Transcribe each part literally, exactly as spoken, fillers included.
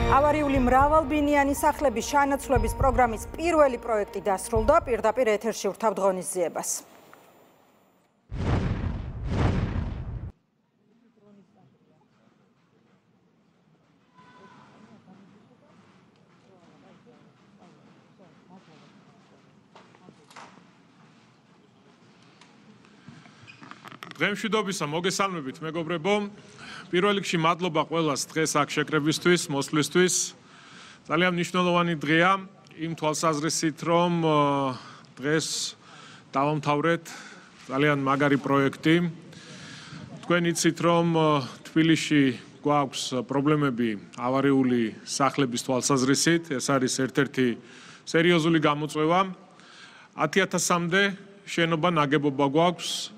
ავარიული მრავალბინიანი სახლების შანაცვლების პროგრამის პირველი პროექტი დასრულდა, პირდაპირ ეთერში ვრთავთ ღონისძიებას. დღემშვიდობისა მოგესალმებით მეგობრებო. პირველ რიგში მადლობა ყველას დღეს აქ შეკრებისთვის, მოსვლისთვის. ძალიან მნიშვნელოვანი დღეა იმ თვალსაზრისით, რომ დღეს დავამთავრეთ ძალიან მაგარი პროექტი. თქვენ იცით, რომ თბილისში გვაქვს პრობლემები ავარიული სახლების თვალსაზრისით. ეს არის ერთ-ერთი სერიოზული გამოწვევა. ათი ათასამდე შენობა ნაგებობა გვაქვს,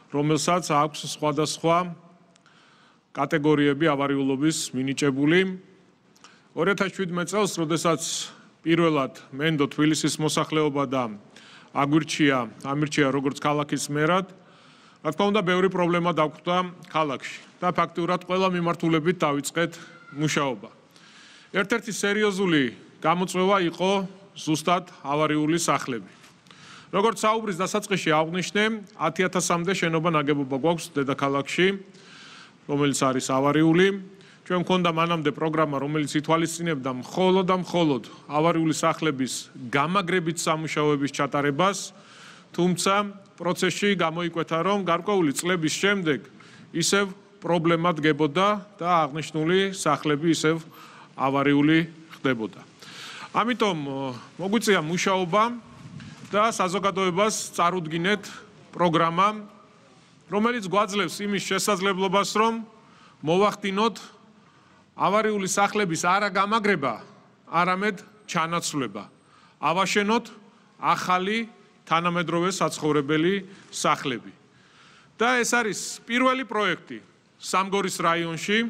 რომელსაც აქვს სხვადასხვა კატეგორიები ავარიულობის მინიჭებული. ორი ათას შვიდმეტ წელს, როდესაც პირველად მენდო თბილისის მოსახლეობა და აგვირჩია, ამირჩია როგორც ქალაქის მერად, რა თქმა უნდა, ბევრი პრობლემა დაგვხვდა ქალაქში და ფაქტიურად ყველა მიმართულებით დავიწყეთ მუშაობა. ერთ-ერთი სერიოზული გამოწვევა იყო ზუსტად ავარიული სახლები. როგორც საუბრის დასაწყისში აღვნიშნე, ათი ათასამდე შენობა ნაგებობა გვაქვს დედაქალაქში, რომელიც არის ავარიული. ჩვენ მქონდა მანამდე პროგრამა, რომელიც ითვალისწინებდა მხოლოდ და მხოლოდ ავარიული სახლების გამაგრებით სამუშაოების ჩატარებას, თუმცა პროცესში გამოიკვეთა, რომ გარკვეული წლების შემდეგ ისევ პრობლემა დგებოდა და აღნიშნული სახლები ისევ ავარიული ხდებოდა. ამიტომ მოგვიწია მუშაობა და საზოგადოებას წარუდგინეთ პროგრამა, რომელიც გვაძლევს იმის შესაძლებლობას, რომ მოვახდინოთ ავარიული სახლების არა გამაგრება, არამედ ჩანაცვლება. ავაშენოთ ახალი თანამედროვე საცხოვრებელი სახლები. და ეს არის პირველი პროექტი სამგორის რაიონში,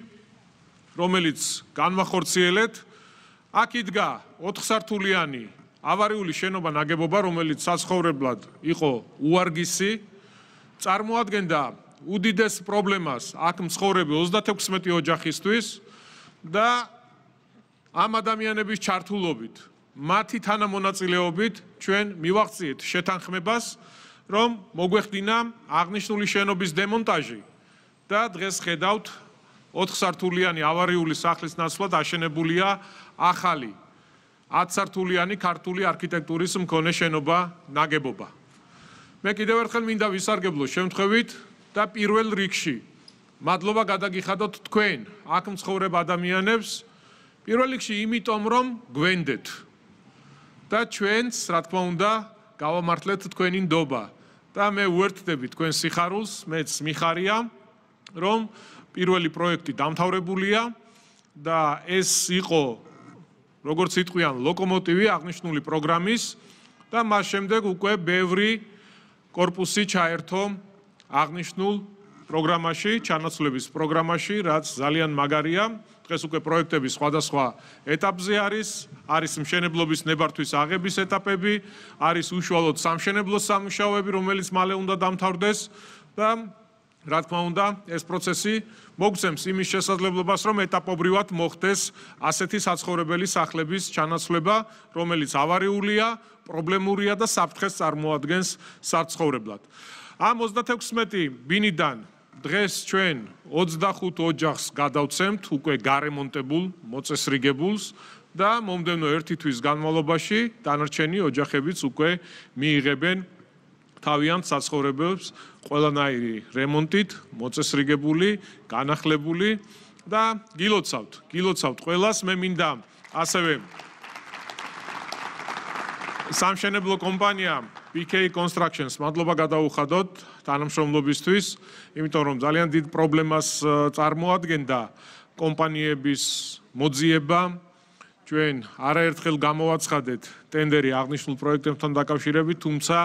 რომელიც განვახორციელეთ. აქ იდგა ოთხსართულიანი ავარიული შენობა ნაგებობა, რომელიც საცხოვრებლად იყო უარგისი, წარმოადგენდა უდიდეს პრობლემას აქ მცხოვრები ოცდათექვსმეტი ოჯახისთვის და ამ ადამიანების ჩართულობით, მათი თანამონაწილეობით ჩვენ მივაღწიეთ შეთანხმებას, რომ მოგვეხდინა აღნიშნული შენობის დემონტაჟი და დღეს ხედავთ ოთხსართულიანი ავარიული სახლის ნაცვლად აშენებულია ახალი ათსართულიანი ქართული არქიტექტურის მქონე შენობა ნაგებობა. მე კიდევ ერთხელ მინდა ვისარგებლო შემთხვევით და პირველ რიგში მადლობა გადაგიხადოთ თქვენ, აქ მცხოვრებ ადამიანებს, პირველ რიგში იმიტომ, რომ გვენდეთ და ჩვენც, რა თქმა უნდა, გავამართლეთ თქვენი ნდობა და მე უერთდები თქვენ სიხარულს, მეც მიხარია, რომ პირველი პროექტი დამთავრებულია და ეს იყო როგორც იტყვიან ლოკომოტივი აღნიშნული პროგრამის და მას შემდეგ უკვე ბევრი კორპუსი ჩაერთო აღნიშნულ პროგრამაში, ჩანაცვლების პროგრამაში, რაც ძალიან მაგარია. დღეს უკვე პროექტები სხვადასხვა ეტაპზე არის, არის მშენებლობის ნებართვის აღების ეტაპები, არის უშუალოდ სამშენებლო სამუშაოები, რომელიც მალე უნდა დამთავრდეს და რა თქმა უნდა, ეს პროცესი მოგცემს იმის შესაძლებლობას, რომ ეტაპობრივად მოხდეს ასეთი საცხოვრებელი სახლების ჩანაცვლება, რომელიც ავარიულია, პრობლემურია და საფრთხეს წარმოადგენს საცხოვრებლად. ამ ოცდათექვსმეტი ბინიდან დღეს ჩვენ ოცდახუთ ოჯახს გადავცემთ უკვე გარემონტებულ, მოწესრიგებულს და მომდევნო ერთი თვის განმავლობაში დანარჩენი ოჯახებიც უკვე მიიღებენ თავიანთ საცხოვრებელს ყველანაირი რემონტით, მოწესრიგებული, განახლებული და გილოცავთ, გილოცავთ ყველას. მე მინდა ასევე სამშენებლო კომპანია ბი კეი Constructions მადლობა გადაუხადოთ თანამშრომლობისთვის, იმიტომ რომ ძალიან დიდ პრობლემას წარმოადგენდა კომპანიების მოძიება. ჩვენ არაერთხელ გამოვაცხადეთ ტენდერი აღნიშნულ პროექტებთან დაკავშირებით, თუმცა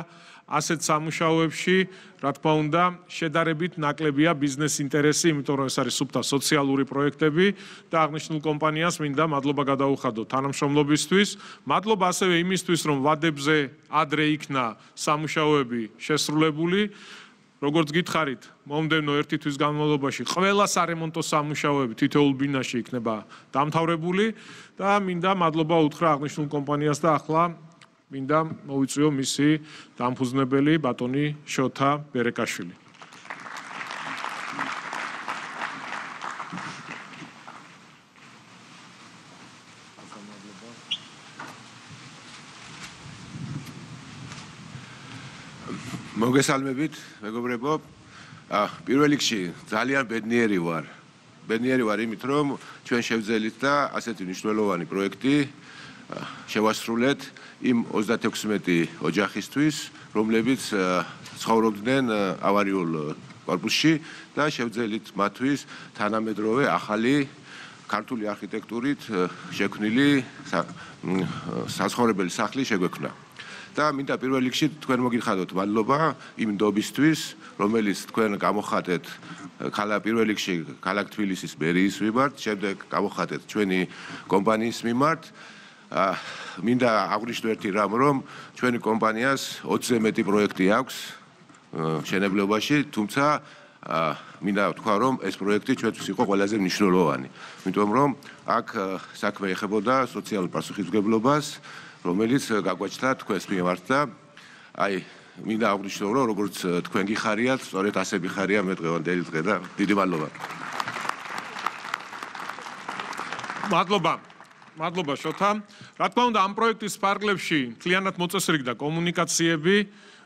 ასეთ სამუშაოებში, რა თქმა უნდა, შედარებით ნაკლებია ბიზნეს ინტერესი, იმიტომ რომ ეს არის სუფთა სოციალური პროექტები და აღნიშნულ კომპანიას მინდა მადლობა გადაუხადოთ თანამშრომლობისთვის. მადლობა ასევე იმისთვის, რომ ვადებზე ადრე იქნა სამუშაოები შესრულებული. როგორც გითხარით, მომდევნო ერთი თვის განმავლობაში ყველა სარემონტო სამუშაოები თითოეულ ბინაში იქნება დამთავრებული და მინდა მადლობა უთხრა აღნიშნულ კომპანიას და ახლა მინდა მოვიწვიო მისი დამფუძნებელი ბატონი შოთა ბერეკაშვილი. მოგესალმებით, მეგობრებო. პირველ რიგში ძალიან ბედნიერი ვარ. ბედნიერი ვარ იმით, რომ ჩვენ შევძელით და ასეთი მნიშვნელოვანი პროექტი შევასრულეთ იმ ოცდათექვსმეტი ოჯახისთვის, რომლებიც ცხოვრობდნენ ავარიულ კორპუსში და შევძელით მათთვის თანამედროვე ახალი ქართული არქიტექტურით შექმნილი საცხოვრებელი სახლი შეგვექმნა. და მინდა პირველ რიგში თქვენ მოგიხადოთ მადლობა იმ ნდობისთვის, რომელიც თქვენ გამოხატეთ ქალა პირველ რიგში ქალაქ თბილისის მერიის მიმართ, შემდეგ გამოხატეთ ჩვენი კომპანიის მიმართ. მინდა აღვნიშნო ერთი რამ, რომ ჩვენი კომპანიას ოცზე მეტი პროექტი აქვს მშენებლობაში, თუმცა მინდა ვთქვა, რომ ეს პროექტი ჩვენთვის იყო ყველაზე მნიშვნელოვანი, იმიტომ რომ აქ საქმე ეხებოდა სოციალურ პასუხისმგებლობას, რომელიც გაგვაჩნდა თქვენს მიმართ და აი მინდა აღვნიშნო, რომ როგორც თქვენ გიხარიათ, სწორედ ასე მიხარია მე დღევანდელი დღე და დიდი მადლობა. მადლობა. მადლობა შოთა. რა თქმა უნდა, ამ პროექტის ფარგლებში მთლიანად მოწესრიგდა კომუნიკაციები,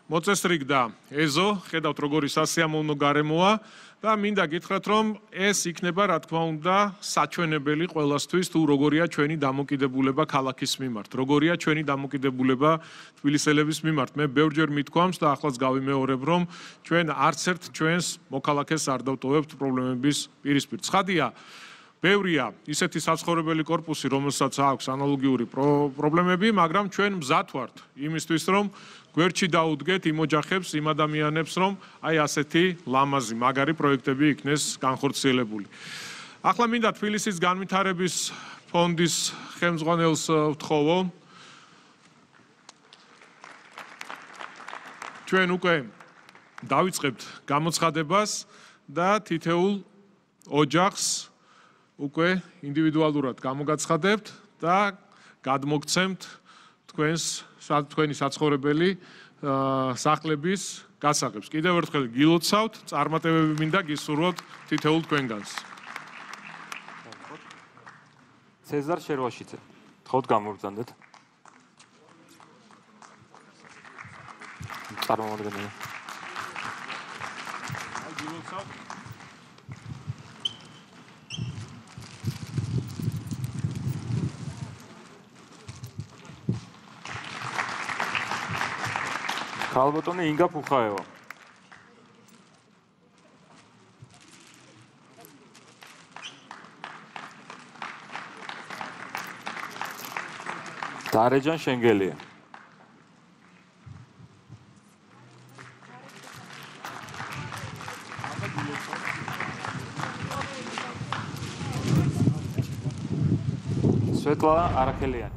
მოწესრიგდა ეზო, ხედავთ როგორი სასიამოვნო გარემოა და მინდა გითხრათ, რომ ეს იქნება რა თქმა უნდა საჩვენებელი ყველასთვის, თუ როგორია ჩვენი დამოკიდებულება ქალაქის მიმართ, როგორია ჩვენი დამოკიდებულება თბილისელების მიმართ. მე ბევრჯერ მithქვამს და ახლაც გავიმეორებ, რომ ჩვენ არც ერთ ჩვენს მოქალაქეს არ დავტოვებთ პრობლემების პირისპირ. ცხადია, ბევრია ისეთი საცხოვრებელი კორპუსი, რომელსაც აქვს ანალოგიური პრობლემები, მაგრამ ჩვენ მზად ვართ იმისთვის, რომ გვერდში დაუდგეთ იმ ოჯახებს, იმ ადამიანებს, რომ აი ასეთი ლამაზი, მაგარი პროექტები იქნეს განხორციელებული. ახლა მინდა თბილისის განვითარების ფონდის ხელმძღვანელს ვთხოვო. ჩვენ უკვე დავიწყებთ გამოცხადებას და თითოეულ ოჯახს უკვე ინდივიდუალურად გამოგაცხადებთ და გადმოგცემთ თქვენს თქვენი საცხოვრებელი სახლების გასაღებს. კიდევ ერთხელ გილოცავთ, წარმატებები მინდა გისურვოთ თითოეულ თქვენგანს. ცეზარ შერვაშიძე, თხოვთ გამოვბრძანდეთ. წარმომადგენელი. აი გილოცავთ. ქალბატონი ინგა ფუხაევა. დარეჯან შენგელია. სვეტლანა არაქელიანი.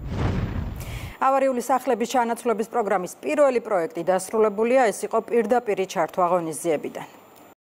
ავარიული სახლების ჩანაცვლების პროგრამის პირველი პროექტი დასრულებულია, ეს იყო პირდაპირი ჩართვა ღონისძიებიდან.